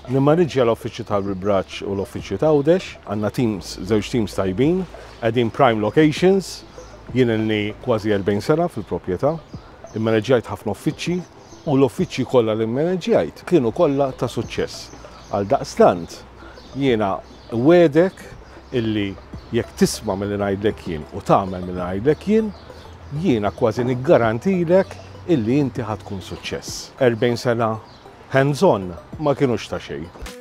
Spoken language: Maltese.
Nimmaniġġja l-uffiċċju tal-Braċ u l-uffiċċju ta' Għawdex, għandna teams, żewġ teams tajbin, qegħdin prime locations, jien ilni kważi 40 sena fil-proprjetà, immaneġġjajt ħafna uffiċċji u l-uffiċċji kollha li mmaneġġjajt kienu kollha ta' suċċess. Għal daqstant, jiena nwegħdek illi jekk tisma' milli ngħidlek jien u tagħmel milli ngħidlek jien, jiena kważi niggarantilek illi inti ħa tkun suċċess. 40 sena hands-on ma kinux ta' xejn.